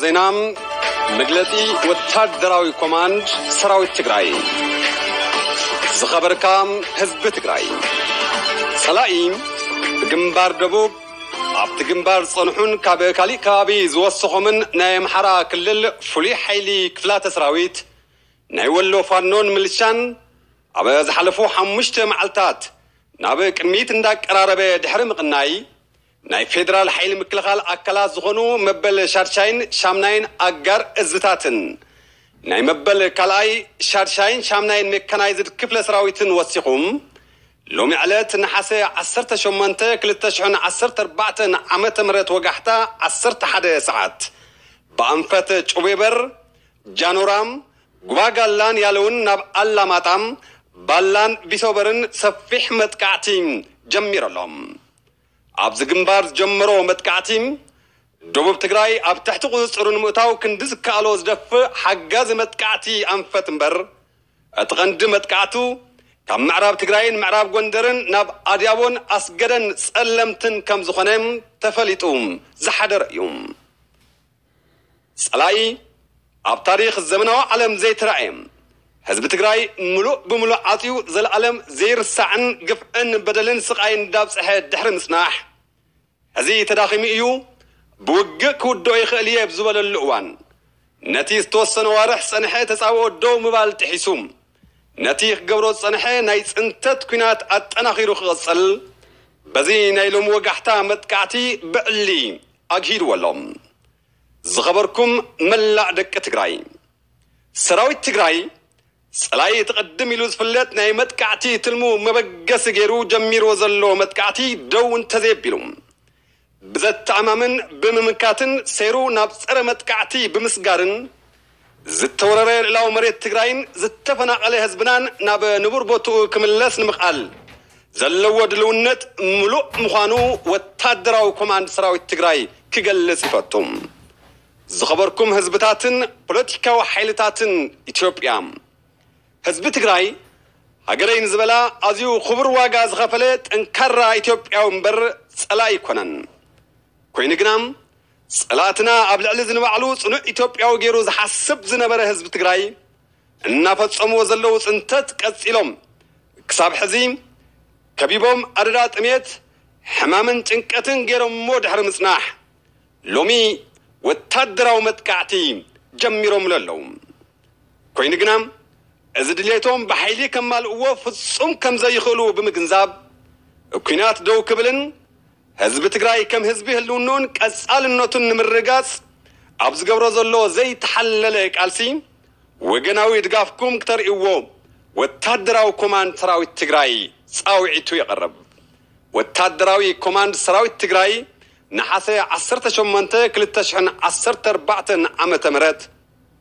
ዜና፣ መግለጺ ወታደራዊ ኮማንድ ሰራዊት ትግራይ። ዝኸበርካ ህዝቢ ትግራይ፣ ጸላኢ ብግንባር ደቡብ ኣብቲ ግንባር ዝጸንሑን ካብ ካሊእ ከባቢ ዝወሰኾምን ናይ ኣምሓራ ክልል ፍሉይ ሓይሊ ክፍላተ ሰራዊት ናይ ወሎ ፋኖን ምልሻን ኣብ ዝሓለፉ ሓሙሽተ መዓልታት ናብ ቅድሚት እንዳቀራረበ ድሕሪ ምቕናይ፣ ናይ ፌደራል ሓይሊ ምክልኻል ኣካላት ዝኾኑ መበል ሻድሻይን ሻምናይን ኣጋር እዝታትን ናይ መበል ካልኣይ ሻድሻይን ሻምናይን ሜካናይዝድ ክፍለ ሰራዊትን ወሲኹም፣ ሎሚ ዕለት ነሓሰ ዓሰርተ ሸሞንተ ክልተ ሽሕን ዓሰርተ ኣርባዕተን ዓመተ ምህረት ወጋሕታ ዓሰርተ ሓደ ሰዓት ብኣንፈት ጩቤበር፣ ጃኖራም፣ ጉባጋላን ያለውን ናብ ኣላማጣም፣ ባላን ቢሶበርን ሰፊሕ መጥቃዕቲ ጀሚሩ ኣሎ። ኣብዚ ግንባር ዝጀመሮ መጥቃዕቲ ደቡብ ትግራይ ኣብ ትሕቲ ቁፅፅሩ ንምእታው ክንዲ ዝከኣሎ ዝደፍእ ሓጋዚ መጥቃዕቲ ኣንፈት እምበር፣ እቲ ቀንዲ መጥቃዕቱ ካብ ምዕራብ ትግራይን ምዕራብ ጎንደርን ናብ ኣድያቦን ኣስገደን ጸለምትን ከም ዝኾነ ተፈሊጡ ዝሓደረ እዩ። ጸላኢ ኣብ ታሪኽ ዘመናዊ ዓለም ዘይተራእየ፣ ህዝቢ ትግራይ ምሉእ ብምሉእ ዓጽዩ፣ ዘለኣለም ዘይርሳዕን ግፍዕን በደልን ስቓይን እንዳብጽሐ ድሕሪ ምጽናሕ፣ ሕዚ ተዳኺሙ እዩ፣ ብውግእ ክውድኦ ይኽእል እየ ብዝበለሉ እዋን፣ ነቲ ዝተወሰነ ዋርሕ ዝጸንሐ ተጻብኦ ደው ምባል ጥሒሱ፣ ነቲ ክገብሮ ዝጸንሐ ናይ ጽንተት ኲናት ኣጠናኺሩ ክቕጽል፣ በዚ ናይ ሎሚ ወጋሕታ መጥቃዕቲ ብዕሊ ኣግሂድዎ ኣሎ። ዝኸበርኩም መላእ ደቂ ትግራይ፣ ሰራዊት ትግራይ ጸላኢ እቲ ቅድም ኢሉ ዝፍለጥ ናይ መጥቃዕቲ ትልሙ መበገሲ ገይሩ ጀሚርዎ ዘሎ መጥቃዕቲ ደው እንተዘየቢሉ፣ ብዘተኣማምን ብምምካትን ሰይሩ ናብ ጸረ መጥቃዕቲ ብምስጋርን፣ ዝተወረረ ልዕላዊ መሬት ትግራይን ዝተፈናቐለ ህዝብናን ናብ ንቡር ቦትኡ ክምለስ ንምኽኣል ዘለዎ ድልውነት ምሉእ ምዃኑ ወታደራዊ ኮማንድ ሰራዊት ትግራይ ክገልጽ ይፈቱ። ዝኸበርኩም ህዝብታትን ፖለቲካዊ ሓይልታትን ኢትዮጵያ፣ ህዝቢ ትግራይ ሃገረይ ንዝበላ ኣዝዩ ክቡር ዋጋ ዝኸፈለ ጠንካራ ኢትዮጵያዊ እምበር ጸላኢ ኣይኮነን። ኮይኑ ግና ጸላእትና ኣብ ልዕሊ ዝንባዕሉ ጽኑዕ ኢትዮጵያዊ ገይሩ ዝሓስብ ዝነበረ ህዝቢ ትግራይ እናፈጸምዎ ዘለዉ ጽንተት ቀጺሎም ክሳብ ሕዚ ከቢቦም ኣደዳ ጥሜት፣ ሕማምን ጭንቀትን ገይሮምዎ ድሕሪ ምጽናሕ፣ ሎሚ ወታደራዊ መጥቃዕቲ ጀሚሮምሉ ኣለዉ። ኮይኑ ግና እዚ ድሌቶም ብሓይሊ ከማልእዎ ፍጹም ከም ዘይኽእሉ ብምግንዛብ፣ ኲናት ደው ክብልን ህዝቢ ትግራይ ከም ህዝቢ ህልውንኡን ቀጻልነቱን ንምርግጋጽ ኣብ ዝገብሮ ዘሎ ዘይተሓለለ ቃልሲ፣ ወገናዊ ድጋፍኩም ክተርእይዎ ወታደራዊ ኮማንድ ሰራዊት ትግራይ ጻውዒቱ የቕርብ። ወታደራዊ ኮማንድ ሰራዊት ትግራይ፣ ነሓሰ ዓሰርተ ሸሞንተ ክልተ ሽሕን ዓሰርተ ኣርባዕተን ዓመተ ምህረት፣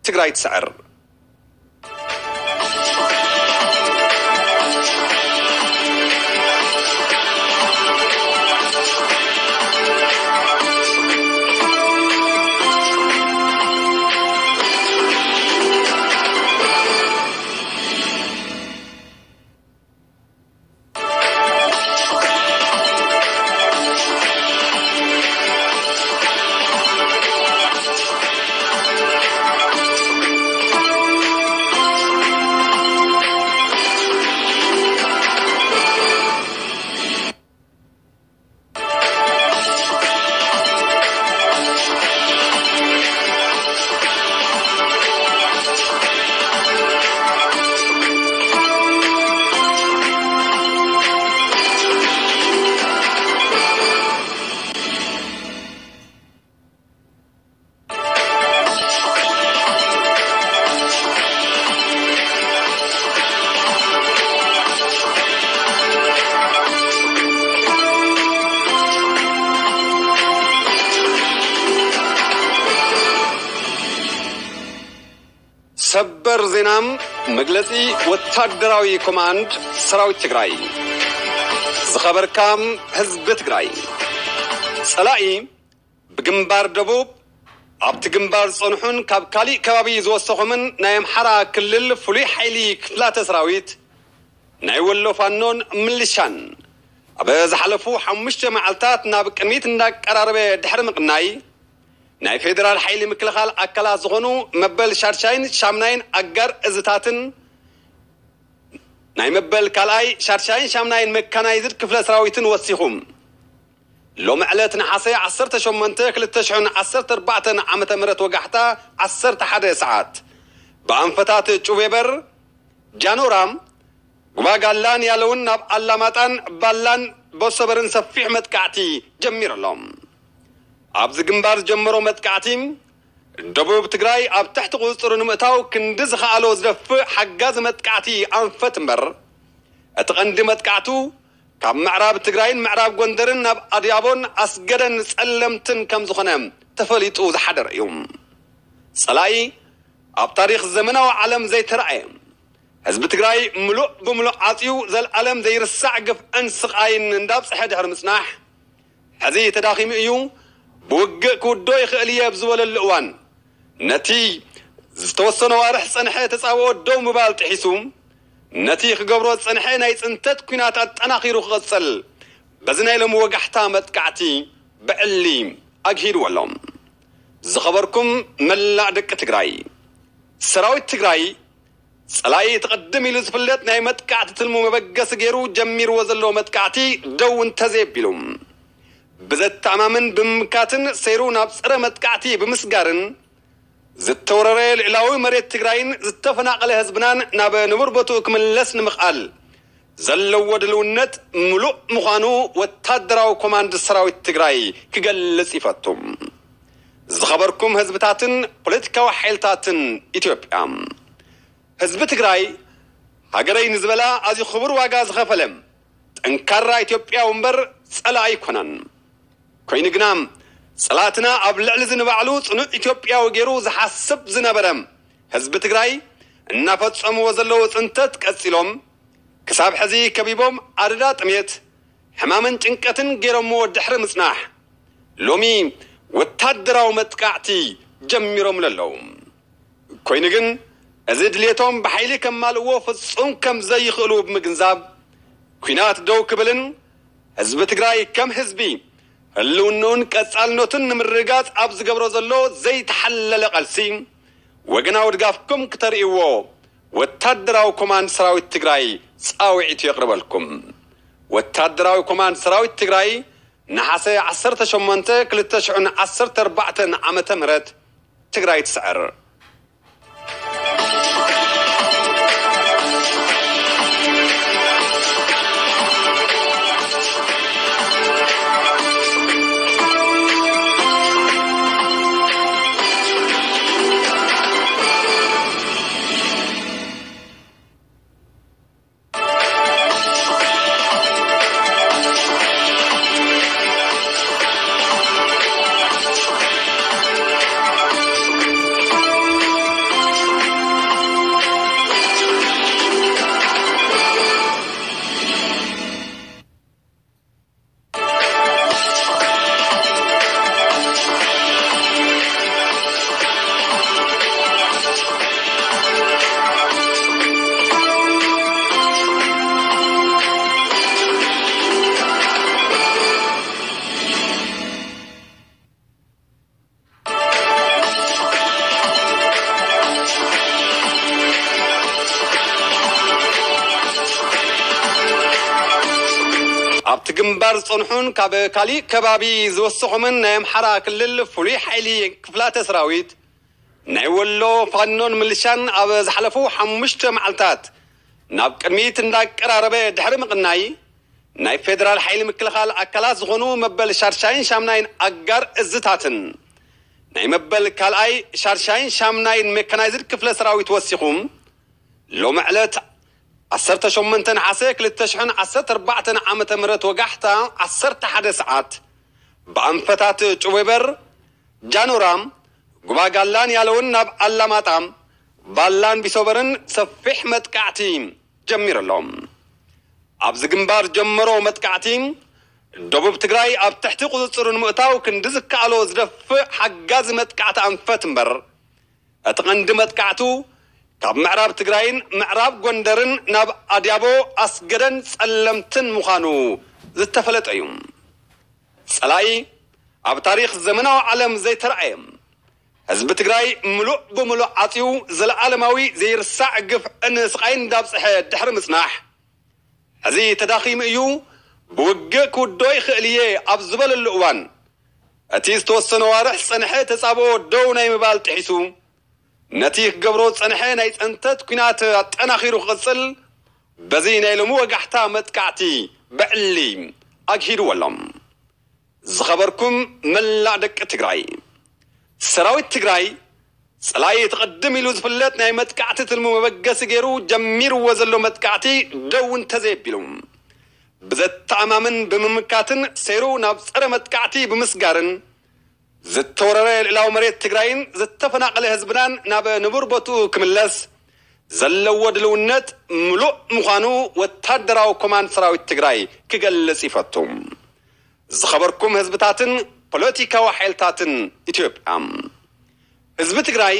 ትግራይ ትስዕር። ሰበር ዜና፣ መግለጺ ወታደራዊ ኮማንድ ሰራዊት ትግራይ። ዝኸበርካ ህዝቢ ትግራይ፣ ጸላኢ ብግንባር ደቡብ ኣብቲ ግንባር ዝጸንሑን ካብ ካሊእ ከባቢ ዝወሰኹምን ናይ ኣምሓራ ክልል ፍሉይ ሓይሊ ክፍላተ ሰራዊት ናይ ወሎ ፋኖን ምልሻን ኣብ ዝሓለፉ ሓሙሽተ መዓልታት ናብ ቅድሚት እንዳቀራረበ ድሕሪ ምቕናይ፣ ናይ ፌደራል ሓይሊ ምክልኻል ኣካላት ዝኾኑ መበል ሻድሻይን ሻምናይን ኣጋር እዝታትን ናይ መበል ካልኣይ ሻድሻይን ሻምናይን መካናይዝድ ክፍለ ሰራዊትን ወሲኹ፣ ሎሚ ዕለት ነሓሰ ዓሰርተ ሸሞንተ ክልተ ሽሕን ዓሰርተ ኣርባዕተን ዓመተ ምህረት ወጋሕታ ዓሰርተ ሓደ ሰዓት ብኣንፈታት ጩቤበር፣ ጃኖራም፣ ጉባጋላን ያለውን ናብ ኣላማጣን ባላን ቦሰበርን ሰፊሕ መጥቃዕቲ ጀሚሩ ኣሎ። ኣብዚ ግንባር ዝጀመሮ መጥቃዕቲ ደቡብ ትግራይ ኣብ ትሕቲ ቁፅፅሩ ንምእታው ክንዲ ዝኸኣሎ ዝደፍእ ሓጋዚ መጥቃዕቲ ኣንፈት እምበር፣ እቲ ቀንዲ መጥቃዕቱ ካብ ምዕራብ ትግራይን ምዕራብ ጎንደርን ናብ ኣድያቦን ኣስገደን ጸለምትን ከም ዝኾነ ተፈሊጡ ዝሓደረ እዩ። ጸላኢ ኣብ ታሪኽ ዘመናዊ ዓለም ዘይተራእየ፣ ህዝቢ ትግራይ ምሉእ ብምሉእ ዓጽዩ ዘልኣለም ዘይርሳዕ ግፍዕን ስቓይን እንዳብጽሐ ድሕሪ ምጽናሕ፣ ሕዚ ተዳኺሙ እዩ፣ ብውግእ ክውዶ ይኽእል እየ ኣብ ዝበለሉ እዋን፣ ነቲ ዝተወሰነ ዋርሕ ዝጸንሐ ተጻብኦ ደው ምባል ጥሒሱ፣ ነቲ ክገብሮ ዝጸንሐ ናይ ጽንተት ኲናት ኣጠናኺሩ ክቕጽል፣ በዚ ናይ ሎሚ ወጋሕታ መጥቃዕቲ ብዕሊ ኣግሂድዎ ኣሎ። ዝኸበርኩም መላእ ደቂ ትግራይ፣ ሰራዊት ትግራይ ጸላኢ እቲ ቅድም ኢሉ ዝፍለጥ ናይ መጥቃዕቲ ትልሙ መበገሲ ገይሩ ጀሚርዎ ዘሎ መጥቃዕቲ ደው እንተዘየቢሉ፣ ብዘተኣማምን ብምምካትን ሰይሩ ናብ ጸረ መጥቃዕቲ ብምስጋርን ዝተወረረ ልዕላዊ መሬት ትግራይን ዝተፈናቐለ ህዝብናን ናብ ንቡር ቦትኡ ክምለስ ንምኽኣል ዘለዎ ድልውነት ምሉእ ምዃኑ ወታደራዊ ኮማንድ ሰራዊት ትግራይ ክገልጽ ይፈቱ። ዝኸበርኩም ህዝብታትን ፖለቲካዊ ሓይልታትን ኢትዮጵያ፣ ህዝቢ ትግራይ ሃገረይ ንዝበላ ኣዝዩ ክቡር ዋጋ ዝኸፈለ ጠንካራ ኢትዮጵያዊ እምበር ጸላኢ ኣይኮነን። ኮይኑ ግና ጸላእትና ኣብ ልዕሊ ዝንባዕሉ ጽኑዕ ኢትዮጵያዊ ገይሩ ዝሓስብ ዝነበረ ህዝቢ ትግራይ እናፈጸምዎ ዘለዉ ጽንተት ቀጺሎም ክሳብ ሕዚ ከቢቦም ኣደዳ ጥሜት፣ ሕማምን ጭንቀትን ገይሮምዎ ድሕሪ ምጽናሕ ሎሚ ወታደራዊ መጥቃዕቲ ጀሚሮምሉ ኣለዉ። ኮይኑ ግን እዚ ድሌቶም ብሓይሊ ከማልእዎ ፍጹም ከም ዘይኽእሉ ብምግንዛብ፣ ኲናት ደው ክብልን ህዝቢ ትግራይ ከም ህዝቢ ህልውንኡን ቀጻልነቱን ንምርግጋጽ ኣብ ዝገብሮ ዘሎ ዘይተሓለለ ቃልሲ ወገናዊ ድጋፍኩም ክተርእይዎ ወታደራዊ ኮማንድ ሰራዊት ትግራይ ጻውዒት የቕርበልኩም። ወታደራዊ ኮማንድ ሰራዊት ትግራይ፣ ነሓሰ ዓሰርተ ሸሞንተ ክልተ ሽሕን ዓሰርተ ኣርባዕተን ዓመተ ምህረት፣ ትግራይ ትስዕር። ኣብቲ ግንባር ዝጸንሑን ካብ ካሊእ ከባቢ ዝወሰኾምን ናይ ኣምሓራ ክልል ፍሉይ ሓይሊ ክፍላተ ሰራዊት ናይ ወሎ ፋኖን ምልሻን ኣብ ዝሓለፉ ሓሙሽተ መዓልታት ናብ ቅድሚት እንዳቀራረበ ድሕሪ ምቕናይ፣ ናይ ፌደራል ሓይሊ ምክልኻል ኣካላት ዝኾኑ መበል ሻድሻይን ሻምናይን ኣጋር እዝታትን ናይ መበል ካልኣይ ሻድሻይን ሻምናይን ሜካናይዝድ ክፍለ ሰራዊት ወሲኹ፣ ሎሚ ዕለት ዓሰርተ ሸሞንተ ነሓሰ ክልተ ሽሕን ዓሰርተ ኣርባዕተን ዓመተ ምህረት ወጋሕታ ዓሰርተ ሓደ ሰዓት ብኣንፈታት ጩቤበር፣ ጃኖራ፣ ጉባጋላን ያለውን ናብ ኣላማጣ፣ ባላን ቢሶበርን ሰፊሕ መጥቃዕቲ ጀሚሩ ኣሎ። ኣብዚ ግንባር ጀመሮ መጥቃዕቲ ደቡብ ትግራይ ኣብ ትሕቲ ቁፅፅሩ ንምእታው ክንዲ ዝከኣሎ ዝደፍእ ሓጋዚ መጥቃዕቲ ኣንፈት እምበር፣ እቲ ቀንዲ መጥቃዕቱ ካብ ምዕራብ ትግራይን ምዕራብ ጎንደርን ናብ ኣድያቦ፣ ኣስገደን ጸለምትን ምዃኑ ዝተፈለጠ እዩ። ጸላኢ ኣብ ታሪኽ ዘመናዊ ዓለም ዘይተራእየ ህዝቢ ትግራይ ምሉእ ብምሉእ ዓፅዩ ዘለዓለማዊ ዘይርሳዕ ግፍዕን ስቓይን እንዳብፅሐ ድሕሪ ምፅናሕ፣ ሕዚ ተዳኺሙ እዩ። ብውግእ ክውድኦ ይኽእል እየ ኣብ ዝበለሉ እዋን፣ እቲ ዝተወሰነ ዋርሕ ዝፀንሐ ተፃብኦ ደው ናይ ምባል ጥሒሱ፣ ነቲ ክገብሮ ዝፀንሐ ናይ ፀንተት ኲናት ኣጠናኺሩ ክቕፅል፣ በዚ ናይ ሎሚ ወጋሕታ መጥቃዕቲ ብዕሊ ኣግሂድዎ ኣሎ። ዝኸበርኩም መላእ ደቂ ትግራይ፣ ሰራዊት ትግራይ፣ ፀላኢ ተቐድም ኢሉ ዝፍለጥ ናይ መጥቃዕቲ ትልሙ መበገሲ ገይሩ ጀሚርዎ ዘሎ መጥቃዕቲ ደው እንተዘየቢሉ፣ ብዘተኣማምን ብምምካትን ሰይሩ ናብ ፀረ መጥቃዕቲ ብምስጋርን፣ ዝተወረረ ልእላዊ መሬት ትግራይን ዝተፈናቐለ ህዝብናን ናብ ንቡር ቦትኡ ክምለስ ዘለዎ ድልውነት ምሉእ ምዃኑ ወታደራዊ ኮማንድ ሰራዊት ትግራይ ክገልጽ ይፈቱ። ዝኸበርኩም ህዝብታትን ፖለቲካዊ ሓይልታትን ኢትዮጵያ፣ ህዝቢ ትግራይ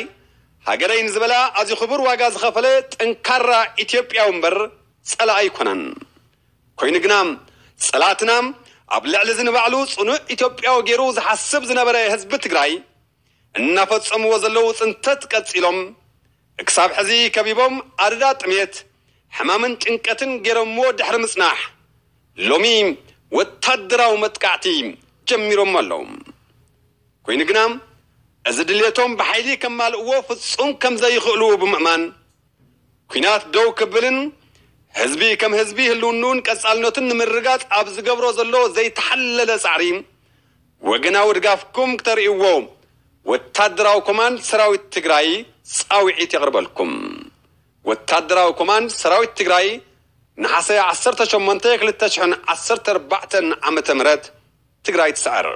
ሃገረይ ንዝበላ ኣዝዩ ክቡር ዋጋ ዝኸፈለ ጠንካራ ኢትዮጵያዊ እምበር ጸላኢ ኣይኮነን። ኮይኑ ግና ጸላትና ኣብ ልዕሊ እዚ ንባዕሉ ጽኑዕ ኢትዮጵያዊ ገይሩ ዝሓስብ ዝነበረ ህዝቢ ትግራይ እናፈጸምዎ ዘለዉ ጽንተት ቀጺሎም፣ ክሳብ ሕዚ ከቢቦም ኣደዳ ጥሜት፣ ሕማምን ጭንቀትን ገይሮምዎ ድሕሪ ምጽናሕ፣ ሎሚ ወታደራዊ መጥቃዕቲ ጀሚሮም ኣለዉ። ኮይኑ ግና እዚ ድሌቶም ብሓይሊ ከማልእዎ ፍጹም ከም ዘይኽእሉ ብምእማን፣ ኲናት ደው ክብልን ህዝቢ ከም ህዝቢ ህልውንኡን ቀጻልነቱን ንምርጋጽ ኣብ ዝገብሮ ዘሎ ዘይተሓለለ ጻዕሪ፣ ወገናዊ ድጋፍኩም ክተርእይዎ ወታደራዊ ኮማንድ ሰራዊት ትግራይ ጻውዒት የቕርበልኩም። ወታደራዊ ኮማንድ ሰራዊት ትግራይ፣ ነሓሰ ዓሰርተ ሸሞንተ ክልተ ሽሕን ዓሰርተ ኣርባዕተን ዓመተ ምህረት፣ ትግራይ ትስዕር።